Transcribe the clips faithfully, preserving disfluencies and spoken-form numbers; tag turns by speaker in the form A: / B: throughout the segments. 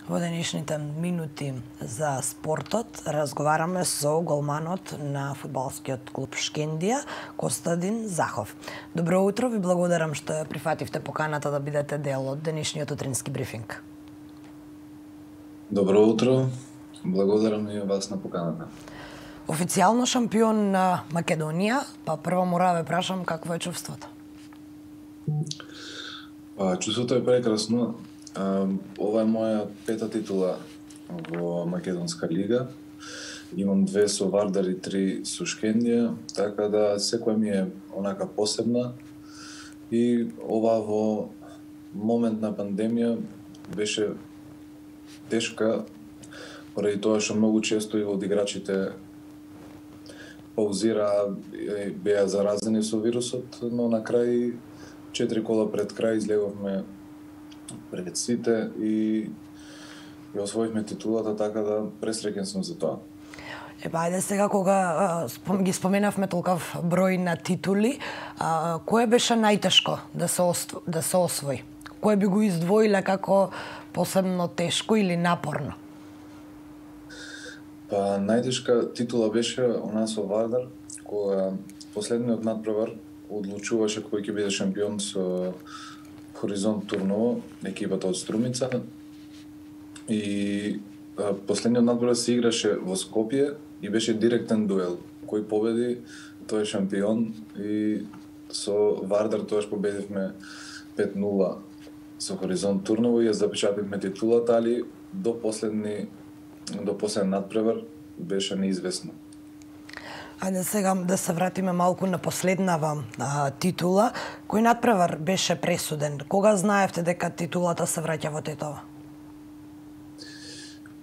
A: Во денешните минути за спортот разговараме со голманот на фудбалскиот клуб Шкендија, Костадин Захов. Добро утро, ви благодарам што ја прифативте поканата да бидете дел од денешниот утрински брифинг.
B: Добро утро, благодарам и вас на поканата.
A: Официјално шампион на Македонија, па прво мора да ве прашам какво е чувството?
B: Па, чувството е прекрасно. Ова е моја пета титула во Македонска лига. Имам две со Вардар и три со Шкендија, така да секоја ми е онака посебна. И ова во момент на пандемија беше тешка, поради тоа што многу често и од играчите паузираа, беа заразени со вирусот, но на крај, четири кола пред крај, излеговме пред сите и ја освоивме титулата, така да пресреќен сум за тоа.
A: Е, па, ајде сега, кога спом, ги споменавме толков број на титули, а, кое беше најтешко да се, ост, да се освои? Кое би го издвоиле како посебно тешко или напорно?
B: Па, најтешка титула беше она со Вардар, кога последниот надпревар одлучуваше кој ќе биде шампион со Хоризонт Турново, екипата од Струмица. И а, последниот надпревар се играше во Скопје и беше директен дуел. Кој победи, тој е шампион, и со Вардар тоаш победивме пет нула со Хоризонт Турново и ја запечативме титулата, али до последни до последен надпревар беше неизвестно.
A: Ајде сега да се вратиме малку на последнава а, титула. Кој надпревар беше пресуден? Кога знаевте дека титулата се враќа во Тетово?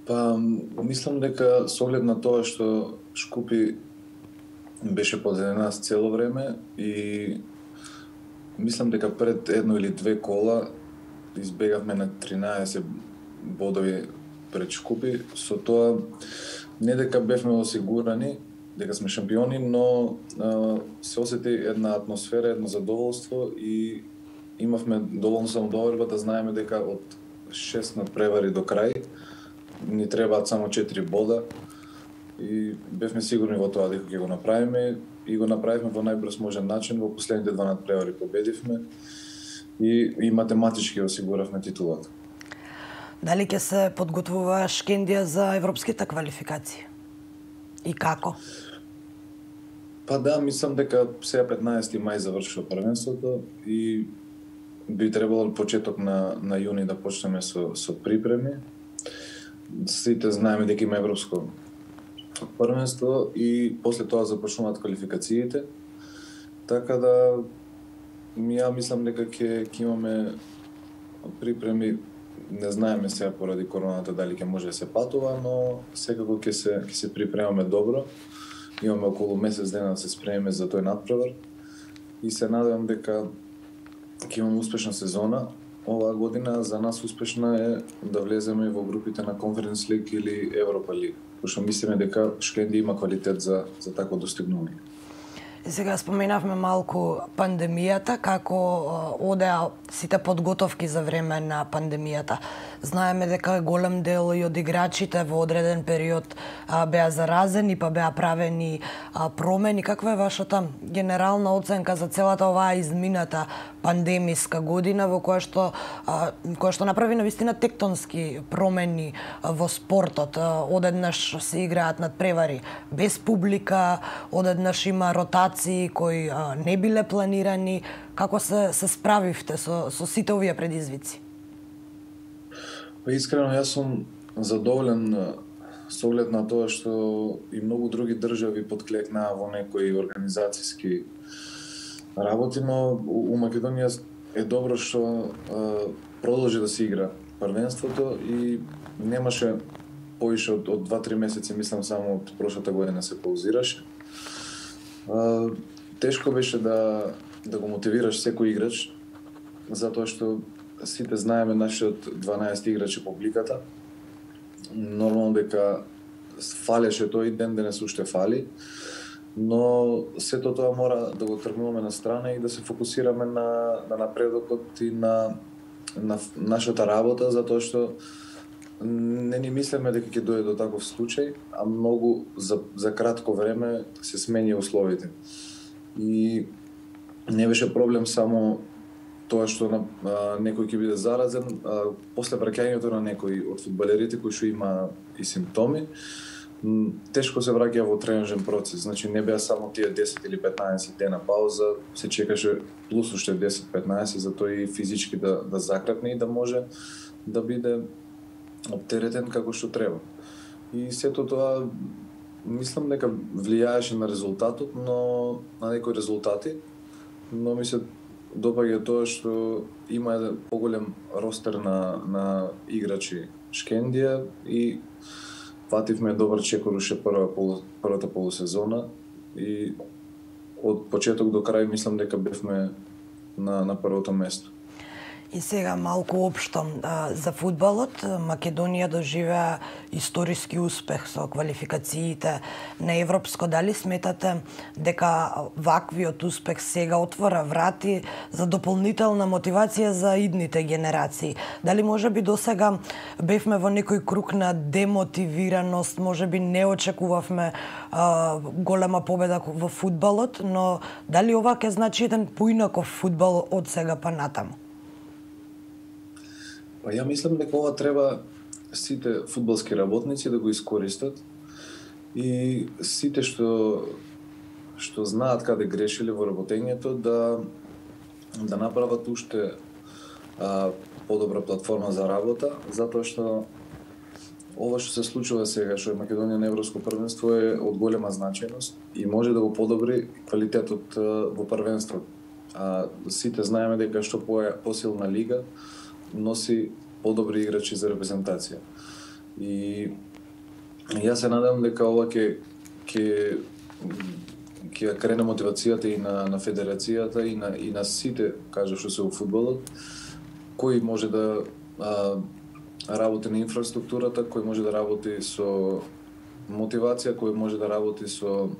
B: Па, мислам дека со оглед на тоа што Шкупи беше позади нас цело време и мислам дека пред едно или две кола избегавме на тринаесет бодови пред Шкупи, со тоа не дека бевме осигурани дека сме шампиони, но а, се осети една атмосфера, едно задоволство и имавме доволно самодоверба да знаеме дека од шест надпревари до крај ни требаат само четири бода и бевме сигурни во тоа дека ќе го направиме и го направивме во најбрз можен начин. Во последните два надпревари победивме и, и математички осигуравме титулата.
A: Дали ќе се подготвува Шкендија за европските квалификации? И како?
B: Па да, мислам дека сега петнаесети мај завршува првенството и би требало почеток на на јуни да почнеме со со припреми. Сите знаеме дека има европско првенство и после тоа започнуваат квалификациите. Така да ја мислам дека ќе ќе имаме припреми. Не знаеме сега поради короната дали ќе може да се патува, но секако ќе се ќе се припремаме добро. Имаме околу месец дена да се спремиме за тој надпревар и се надевам дека ќе имаме успешна сезона. Оваа година за нас успешна е да влеземе во групите на Конференц лиг или Европа лиг, пошто мислиме дека Шкендија има квалитет за за такво достигнување.
A: И сега споменавме малку пандемијата, како одеа сите подготовки за време на пандемијата. Знаеме дека голем дел и од играчите во одреден период а, беа заразени, па беа правени а, промени. Каква е вашата генерална оценка за целата оваа измината пандемиска година во која што а, која што направи навистина тектонски промени а, во спортот? А, одеднаш се играат надпревари без публика, одеднаш има ротации кои а, не биле планирани. Како се се справивте со со сите овие предизвици?
B: Па искрено јас сум задоволен со оглед на тоа што и многу други држави подклекнаа во некои организацијски работи, но у Македонија е добро што а, продолжи да се игра првенството и немаше повише од, од два-три месеци, мислам само од прошлата година се паузираше. А, тешко беше да да го мотивираш секој играч, затоа што сите знаеме нашиот дванаесет играчи публиката. Нормално дека фалеше тој ден денес уште фали, но сето тоа мора да го тргнуваме на страна и да се фокусираме на на напредокот и на на нашата работа, затоа што не ни мислеме дека ќе дојде до таков случај, а многу за, за кратко време се смени условите. И не беше проблем само тоа што на, а, некој ќе биде заразен, а, после враќањето на некој од фудбалерите кои што има и симптоми, тешко се враќа во тренажен процес. Значи не беа само тие десет или петнаесет дена пауза, се чекаше плюс уште десет петнаесет за тоа и физички да да закрепне и да може да биде оптеретен како што треба. И сето тоа мислам дека влијаеше на резултатот, но на некои резултати, но ми се допаѓа тоа што има еден поголем ростер на на играчи Шкендија и фативме добар чекор уште прва полу, првата полусезона и од почеток до крај мислам дека бевме на на првото место.
A: И сега малку општо за фудбалот. Македонија доживеа историски успех со квалификациите на Европско. Дали сметате дека ваквиот успех сега отвора врати за дополнителна мотивација за идните генерации? Дали можеби досега бевме во некој круг на демотивираност, можеби не очекувавме а, голема победа во фудбалот, но дали ова ќе значи еден поинаков фудбал од сега па натаму?
B: Па ја мислам дека ова треба сите фудбалски работници да го искористат и сите што што знаат каде грешиле во работењето да да направат уште а, подобра платформа за работа, затоа што ова што се случува сега, што е Македонија на Европско првенство, е од голема значајност и може да го подобри квалитетот во првенството. А сите знаеме дека што по посилна лига носи подобри играчи за репрезентација. И јас се надам дека ова ќе ќе ќе крене мотивацијата и на на федерацијата и на и на сите, кажа што се во фудбалот, кој може да а, работи на инфраструктурата, кој може да работи со мотивација, кој може да работи со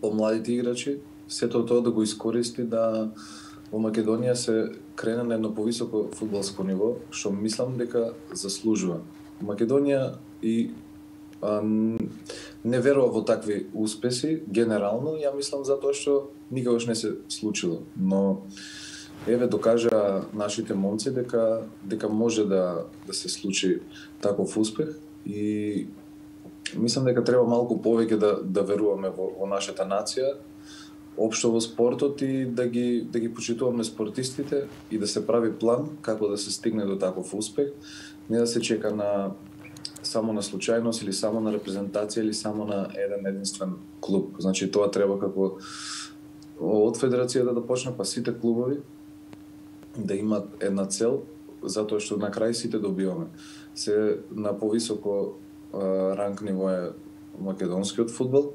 B: помладите играчи, сето тоа да го искористи да во Македонија се крена на едно повисоко фудбалско ниво, што мислам дека заслужува. Македонија и а, не верува во такви успеси генерално, ја мислам затоа што никогаш не се случило, но еве докажа нашите момци дека дека може да да се случи таков успех и мислам дека треба малку повеќе да да веруваме во, во нашата нација, општо во спортот и да ги да ги почитуваме спортистите и да се прави план како да се стигне до таков успех, не да се чека на само на случајност или само на репрезентација или само на еден единствен клуб. Значи тоа треба како од федерацијата да почне, па сите клубови да имат една цел, затоа што на крај сите добиваме. Се на повисоко а, ранг ниво е македонскиот фудбал.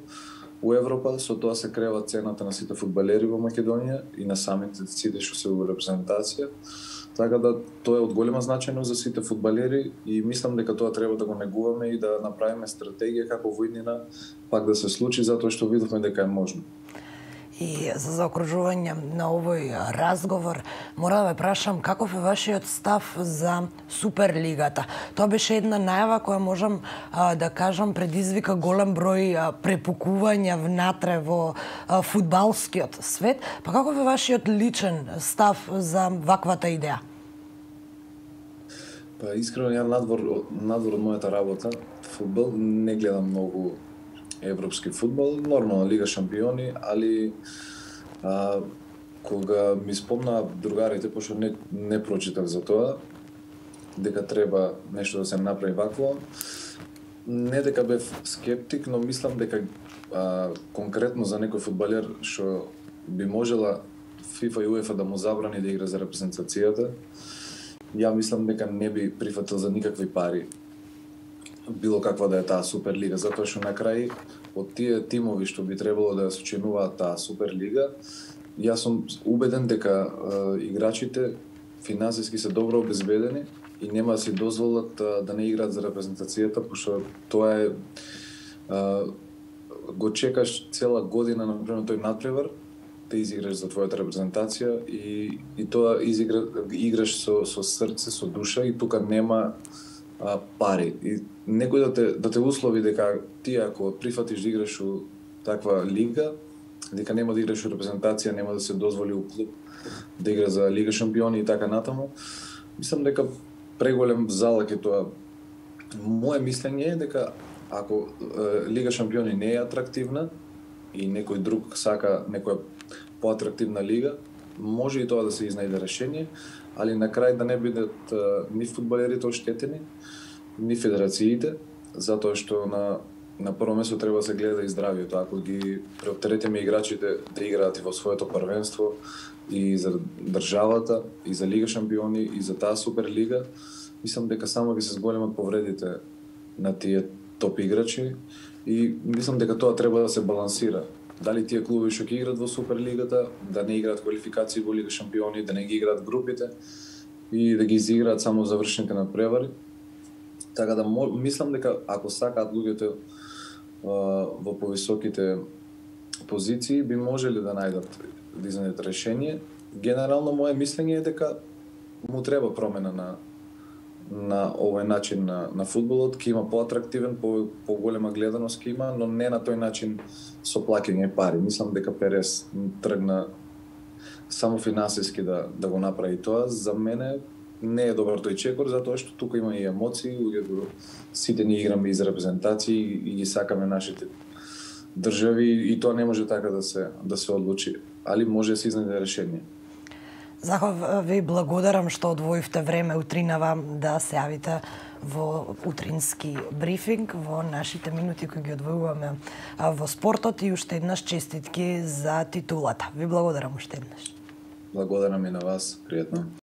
B: У Европа со тоа се крева цената на сите фудбалери во Македонија и на самите сите што се во репрезентација. Така да тоа е од голема значајност за сите фудбалери и мислам дека тоа треба да го негуваме и да направиме стратегија како во иднина пак да се случи, затоа што видовме дека е можно.
A: И за заокружување на овој разговор, мора да ве прашам каков е вашиот став за Суперлигата. Тоа беше една најава која можам а, да кажам предизвика голем број а, препукувања внатре во а, фудбалскиот свет. Па каков е вашиот личен став за ваквата идеја?
B: Па искрено ја надвор надвор од мојата работа, фудбал не гледам многу европски фудбал, нормално Лига шампиони, али а, кога ми спомна другарите, пошто не, не прочитав за тоа, дека треба нешто да се направи вакво, не дека бев скептик, но мислам дека а, конкретно за некој фудбалер што би можела ФИФА и УЕФА да му забрани да игра за репрезентацијата, ја мислам дека не би прифатил за никакви пари било каква да е таа Суперлига, затоа што на крај од тие тимови што би требало да сочинуваат таа Суперлига, јас сум убеден дека е, играчите финансиски се добро обезбедени и нема да си дозволат е, да не играат за репрезентацијата, пошто тоа е, е го чекаш цела година на пример тој надпревар, да изиграш за твојата репрезентација и и тоа изигра, играш со со срце, со душа и тука нема а, пари. И некој да те, да те услови дека ти ако прифатиш да играш у таква лига, дека нема да играш у репрезентација, нема да се дозволи у клуб да игра за Лига шампиони и така натаму, мислам дека преголем залак е тоа. Моje мислење е дека ако е, Лига шампиони не е атрактивна и некој друг сака некоја поатрактивна лига, може и тоа да се изнајде решение, али на крај да не бидат ни фудбалерите оштетени, ни федерациите, затоа што на на прво место треба да се гледа и здравието. Ако ги преоптеретиме играчите да играат и во своето првенство и за државата, и за Лига шампиони, и за таа Суперлига, мислам дека само ќе се зголемат повредите на тие топ играчи и мислам дека тоа треба да се балансира. Дали тие клубови што ќе играат во Суперлигата, да не играат квалификации во Лига шампиони, да не ги играат групите и да ги изиграат само завршните надпревари. Така да мислам дека ако сакаат луѓето во повисоките позиции би можеле да најдат да изнајдат решение. Генерално мое мислење е дека му треба промена на на овој начин на на фудбалот, ќе има поатрактивен, по поголема гледаност ќе има, но не на тој начин со плаќање пари. Мислам дека Перес тргна само финансиски да да го направи тоа. За мене не е добар тој чекор, затоа што тука има и емоции, луѓето сите ние играме из репрезентации и ги сакаме нашите држави и тоа не може така да се да се одлучи, али може да се изнајде решение.
A: Захов, ви благодарам што одвоивте време утринава да се јавите во утрински брифинг, во нашите минути кои ги одвојуваме во спортот и уште еднаш честитки за титулата. Ви благодарам уште еднаш.
B: Благодарам и на вас, пријатно.